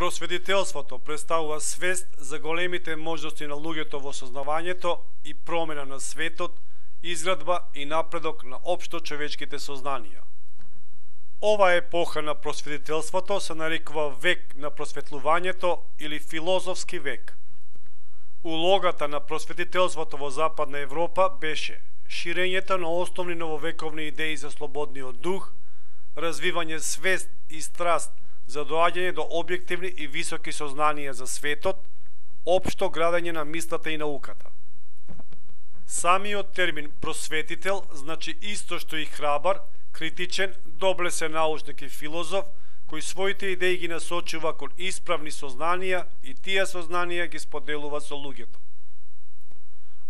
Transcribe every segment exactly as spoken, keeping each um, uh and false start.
Просветителството представува свест за големите можности на луѓето во сознавањето и промена на светот, изградба и напредок на општо човечките сознанија. Ова епоха на просветителството се нарекува век на просветлувањето или филозофски век. Улогата на просветителството во Западна Европа беше ширењето на основни нововековни идеи за слободниот дух, развивање свест и страст за доаѓање до објективни и високи сознанија за светот, општо градење на мислата и науката. Самиот термин просветител значи исто што и храбар, критичен, доблесен научник и филозоф, кој своите идеи ги насочува кон исправни сознанија и тие сознанија ги споделува со луѓето.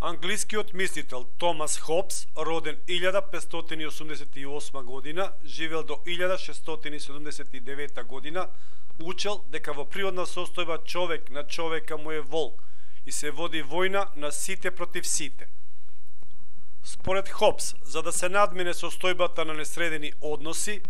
Англискиот мислител Томас Хобс, роден илјада петстотини и осумдесет и осма година, живел до илјада шестстотини седумдесет и девета година, учел дека во природна состојба човек на човека му е волк и се води војна на сите против сите. Според Хобс, за да се надмине состојбата на несредени односи,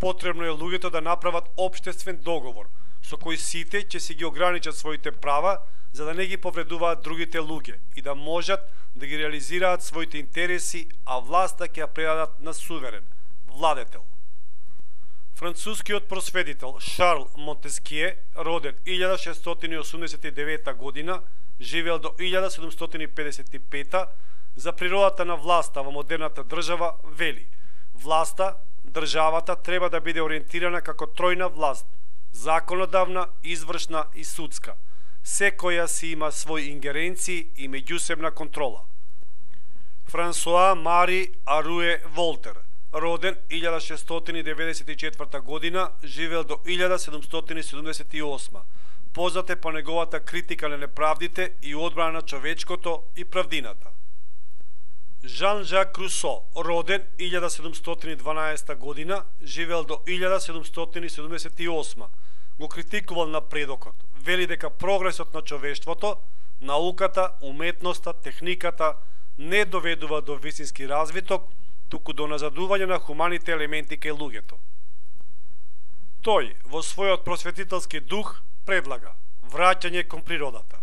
потребно е луѓето да направат општествен договор, со кој сите ќе си ги ограничат своите права, за да не ги повредуваат другите луѓе и да можат да ги реализираат своите интереси, а власта ќе ја предадат на суверен, владетел. Францускиот просветител Шарл Монтеские, роден илјада шестстотини и осумдесет и девета година, живеел до илјада седумстотини педесет и пета, за природата на власта во модерната држава вели: власта, државата треба да биде ориентирана како тројна власт: законодавна, извршна и судска. Секоја си има своји ингеренции и меѓусебна контрола. Франсоа Мари Аруе Волтер, роден илјада шестстотини деветдесет и четврта година, живеел до илјада седумстотини седумдесет и осма. Познат е по неговата критика на неправдите и одбрана на човечкото и правдината. Жан-Жак Русо, роден илјада седумстотини и дванаеста година, живеел до илјада седумстотини седумдесет и осма. Го критикувал напредокот. Вели дека прогресот на човештвото, науката, уметноста, техниката не доведува до вистински развиток, туку до назадување на хуманите елементи кај луѓето. Тој, во својот просветителски дух, предлага враќање кон природата.